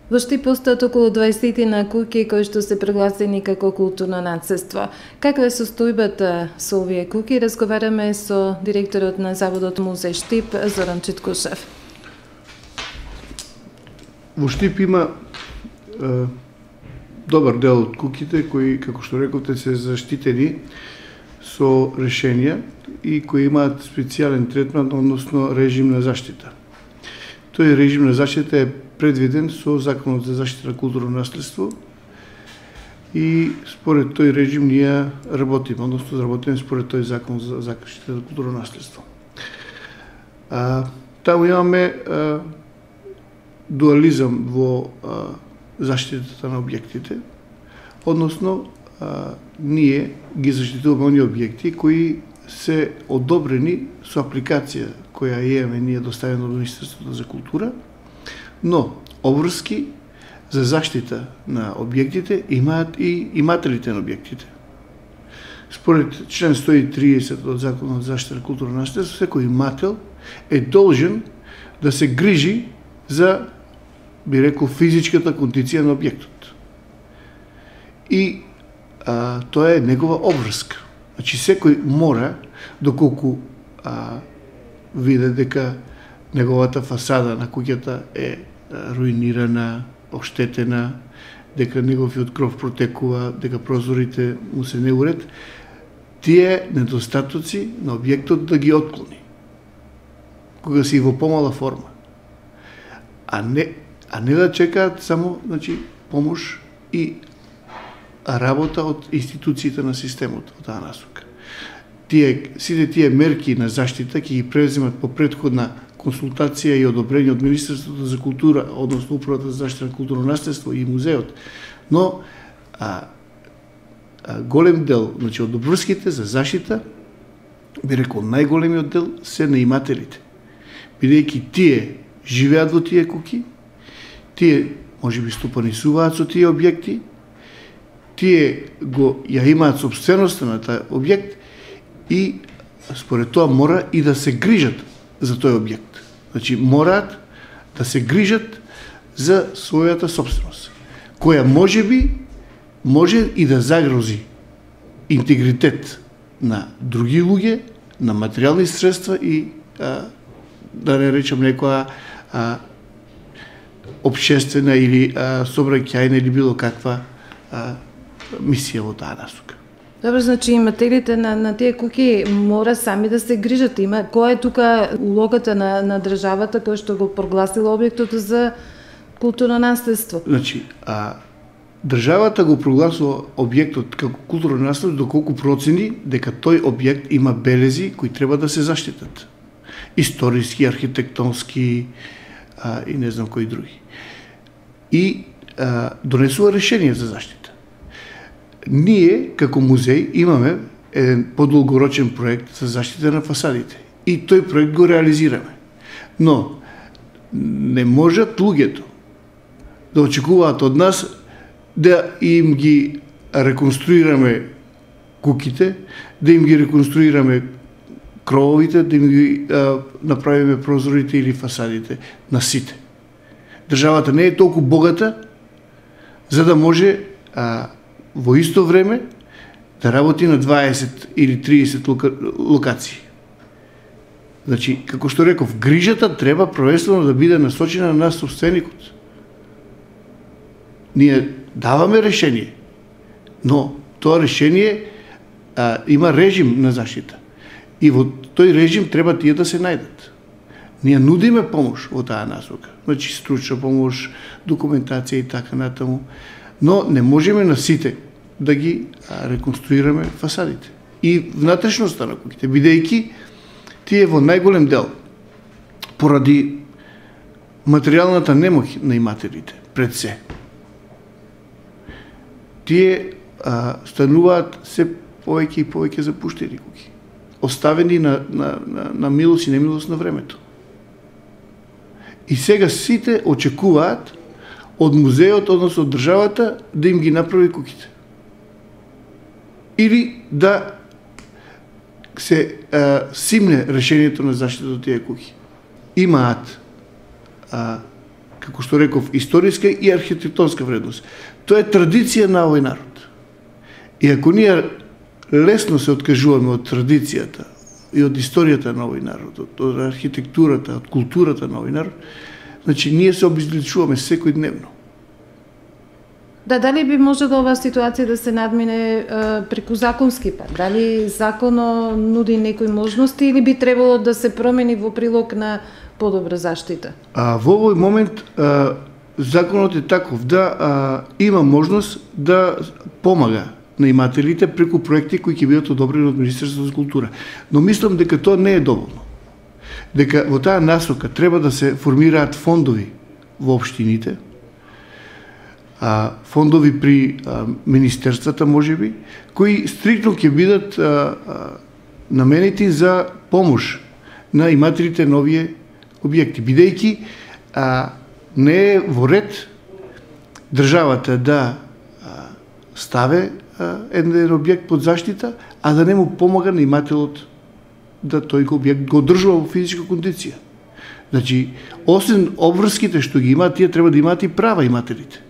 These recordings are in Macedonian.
Во Штип постојат околу 20 на куќи кои што се прогласени како културно наследство. Каква е состојбата со овие куќи? Разговараме со директорот на Заводот Музеј Штип, Зоран Читкушев. Во Штип има добар дел од куќите кои, како што рековте, се заштитени со решенија и кои имаат специјален третман, односно режим на заштита. Тој режим на заштита е предвиден со Законот за заштита на културно наследство и според тој режим ние работиме, односно работиме според тој Закон за заштита на културно наследство. Таму имаме дуализам во заштитата на објектите, односно ние ги заштитуваме оние објекти кои се одобрени со апликација која имаме ние доставена од Министерството за култура, но обврски за заштита на објектите имаат и имателите на објектите. Според член 130 од Законот за заштита на културно наследство, секој имател е должен да се грижи за, би рекол, физичката кондиција на објектот. И тоа е негова обврска. Значи, секој мора, доколку виде дека неговата фасада на куќата е руинирана, оштетена, дека неговиот кров протекува, дека прозорите му се не уред, тие недостатоци на објектот да ги отклони, кога си во помала форма. А не да чекаат само, значи, помош и работа од институциите на системот во таа насока. Сите тие мерки на заштита ќе ги преземат по претходна консултација и одобрение од Министерството за култура, односно Управата за заштита на културно наследство и музеот. Но голем дел, значи од обврските за заштита, би рекол најголемиот дел се на имателите. Бидејќи тие живеат во тие куќи, тие можеби стопанисуваат со тие објекти, тие ја имаат собственоста на тај објект и според тоа мора и да се грижат за тој објект. Значи, мораат да се грижат за својата собственост, која може и да загрози интегритет на други луѓе, на материјални средства и, да не речем, некоја општествена или сообраќајна или било каква мисија во таа насока. Добро, значи имателите на тие куќи мора сами да се грижат. Која е тука улогата на државата која што го прогласила објектот за културно наследство? Значи, државата го прогласува објектот како културно наследство доколку процени дека тој објект има белези кои треба да се заштитат. Историски, архитектонски и не знам кои други. И донесува решение за заштита. Ние, како музеј, имаме еден подолгорочен проект за заштита на фасадите. И тој проект го реализираме. Но не можат луѓето да очекуваат од нас да им ги реконструираме куќите, да им ги реконструираме крововите, да им ги направиме прозорите или фасадите на сите. Државата не е толку богата за да може во исто време да работи на 20 или 30 локации. Значи, како што реков, грижата треба првенствено да биде насочена на собственикот. Ние даваме решение, но тоа решение има режим на заштита. И во тој режим треба тие да се најдат. Ние нудиме помош во таа насока. Значи, стручна помош, документација и така натаму. Но не можеме на сите да ги реконструираме фасадите и внатрешноста на куќите, бидејќи тие во најголем дел поради материјалната немоќ на имателите пред се. Тие стануваат се повеќе и повеќе запуштени куќи, оставени на милост и немилост на времето. И сега сите очекуваат од музеот, односно од државата, да им ги направи куќите. Или да се симне решението на заштита од тие куќи. Имаат како што реков, историска и архитектонска вредност. Тоа е традиција на овој народ. И ако ние лесно се откажуваме од традицијата и од историјата на овој народ, од архитектурата, од културата на овој народ, значи ние се обезличуваме секојдневно. Да, дали би можела оваа ситуација да се надмине преку законски пат? Дали законот нуди некои можности или би требало да се промени во прилог на подобра заштита? Во овој момент законот е таков да има можност да помага на имателите преку проекти кои ќе бидат одобрени од Министерството за култура. Но мислам дека тоа не е доволно. Дека во таа насока треба да се формираат фондови во општините, фондови при министерствата можеби, кои стриктно ќе бидат наменети за помош на имателите на овие објекти, бидејќи не е во ред државата да ставе еден објект под заштита, а да не му помага на имателот да тој објект го одржува во физичка кондиција. Значи, освен обврските што ги имаат, тие треба да имаат и права имателите.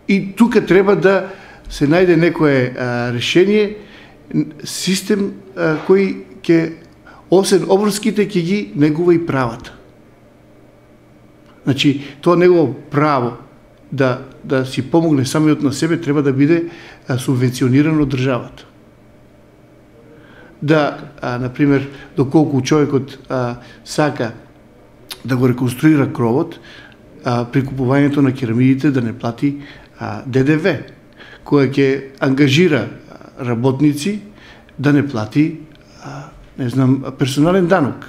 И тука треба да се најде некое решение, систем кој ќе, освен обврските, ќе ги негува и правата. Значи, тоа негово право да си помогне самиот на себе треба да биде субвенционирано од државата. Да, например, доколку човекот сака да го реконструира кровот, при купувањето на керамидите да не плати ДДВ, која ќе ангажира работници да не плати, персонален данок.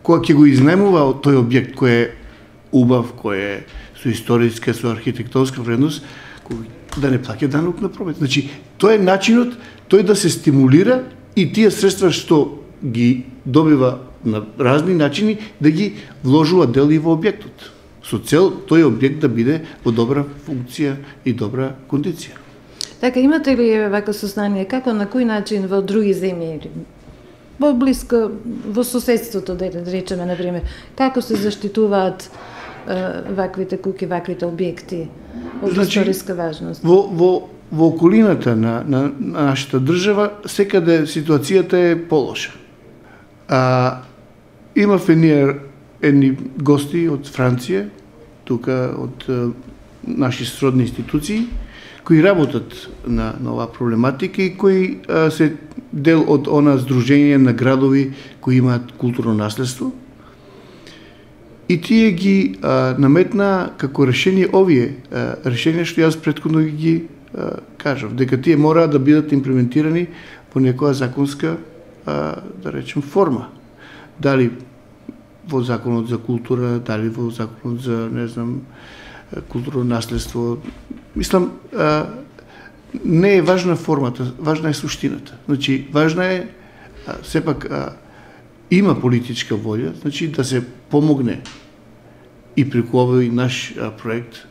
Која ќе го изнаемува од тој објект кој е убав, кој е со историска, со архитектонска вредност, да не плаќа данок на промет. Значи, тоа е начинот тој да се стимулира и тие средства што ги добива на разни начини да ги вложува дел и во објектот, со цел тој објект да биде во добра функција и добра кондиција. Така, имате ли вака сознание како, на кој начин во други земји, во блиско, во соседството, да речеме, например, како се заштитуваат ваквите куќи, ваквите објекти од историска важност? Во околината на нашата држава секаде ситуацијата е полоша. Имавме ние едни гости од Франција, тука од наши сродни институции, кои работат на оваа проблематика и кои се дел од она здружение на градови кои имаат културно наследство. И тие ги наметна како решение овие решенија што јас претходно ги кажав, дека тие мора да бидат имплементирани по некоја законска, да речем, форма. Дали во законот за култура, дали во законот за, не знам, културно наследство. Мислам, не е важна формата, важна е суштината. Значи, важна е, сепак, има политичка волја, значи да се помогне и преку овој наш проект.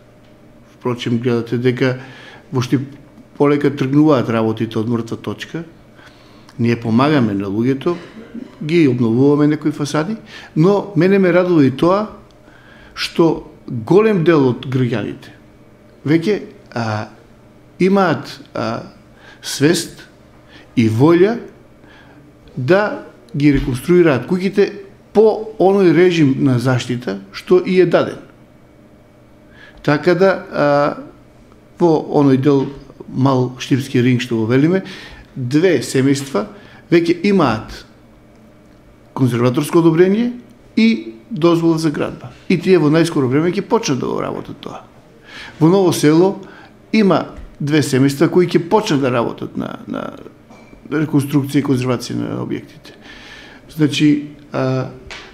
Впрочем, гледате дека вошти полека тргнуваат работите од мртва точка. Ние помагаме на луѓето, ги обновуваме некои фасади, но мене ме радува и тоа што голем дел од граѓаните веќе имаат свест и волја да ги реконструираат куќите по оној режим на заштита што и е даден. Така да во оној дел мал Штипски ринг што го велиме, две семејства веќе имаат конзерваторско одобрение и дозвола за градба. И тие во најскоро време ќе почнат да го работат тоа. Во Ново село има две семејства кои ќе почнат да работат на реконструкција и конзервација на објектите. Значи,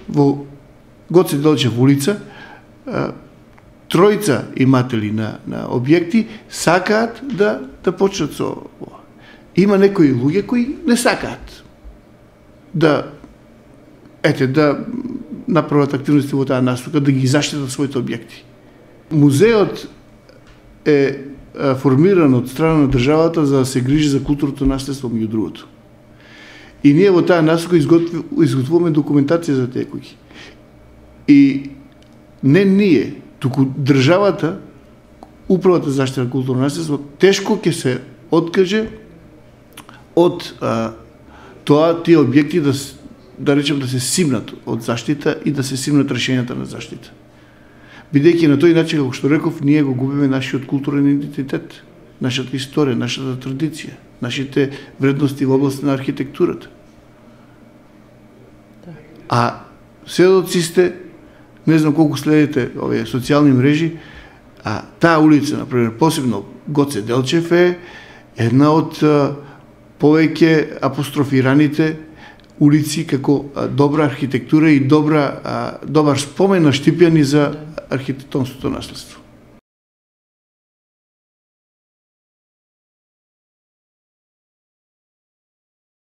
во Гоце Делчев улица, тројца иматели на објекти сакаат да почнат со ова. Има некои луѓе кои не сакаат да направат активности во таа насока, да ги заштитат своите објекти. Музеот е формиран од страна на државата за да се грижи за културното наследство, меѓу другото. И ние во таа насока изготвуваме документација за тие куќи. И не ние, туку државата, Управата за заштита на културно наследство, тешко ќе се откаже од тоа тие објекти да речем да се симнат од заштита и да се симнат решењата на заштита. Бидејќи на тој начин, како што реков, ние го губиме нашиот културен идентитет, нашата историја, нашата традиција, нашите вредности во област на архитектурата. А сведоци сте, не знам колку следите овие социјални мрежи, а таа улица, например, посебно Гоце Делчев е една од повеќе апострофираните улици како добра архитектура и добар спомен на Штипјани за архитектонското наследство.